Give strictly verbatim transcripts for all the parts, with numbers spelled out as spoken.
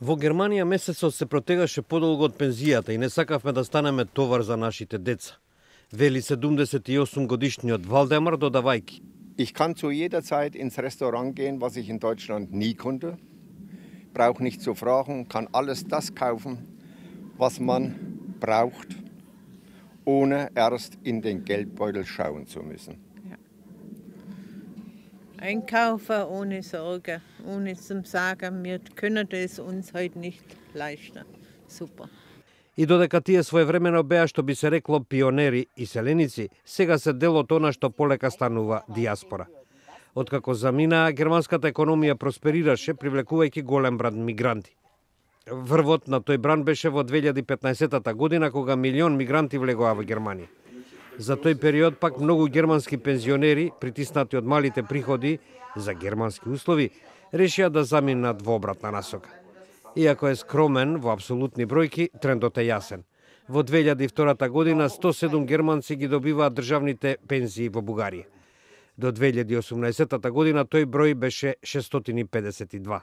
Во Германија месецот се протегаше подолго од пензијата и не сакавме да станеме товар за нашите деца. Вели седумдесет и осум годишниот Валдемар додавајки. Ich kann zu jeder Zeit ins Restaurant gehen, was ich in Deutschland nie konnte. Brauche nicht zu fragen, kann alles das kaufen, was man braucht, ohne erst in den Geldbeutel schauen zu müssen. Ja. Einkaufen ohne Sorge, ohne zu sagen, wir können es uns heute nicht leisten. Super. И додека тие своевремено беа, што би се рекло, пионери и селеници, сега се дел од она што полека станува диаспора. Откако заминаа, германската економија просперираше, привлекувајќи голем бранд мигранти. Врвот на тој бранд беше во две илјади и петнаесетта година, кога милион мигранти влегоа во Германија. За тој период пак многу германски пензионери, притиснати од малите приходи за германски услови, решија да заминат во обратна насока. Иако е скромен во апсолутни бројки, трендот е јасен. Во две илјади и втора година сто седум германци ги добиваат државните пензии во Бугарија. До две илјади и осумнаесетта година тој број беше шестстотини и педесет и два.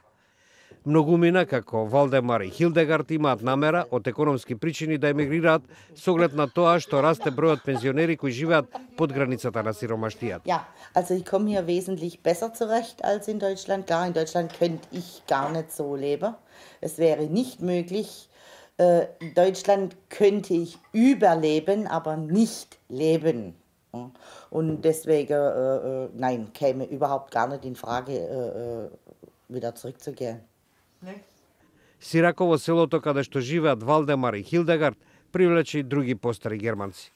Многумина како Валдемар и Хилдегард имаат намера од економски причини да емигрираат со оглед на тоа што расте бројот пензионери кои живеат под границата на сиромаштијата. Ja, also ich komme hier wesentlich besser zurecht als in Deutschland. Klar, in Deutschland könnte ich gar nicht so leben. Es wäre nicht möglich. In Deutschland könnte ich überleben, aber nicht leben. Und deswegen, äh, nein, käme überhaupt gar nicht in Frage, äh, wieder zurückzugehen. Сираково, селото каде што живеат Валдемар и Хилдегард, привлече и други постари германци.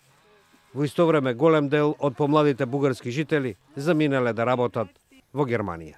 Во исто време голем дел од помладите бугарски жители заминале да работат во Германија.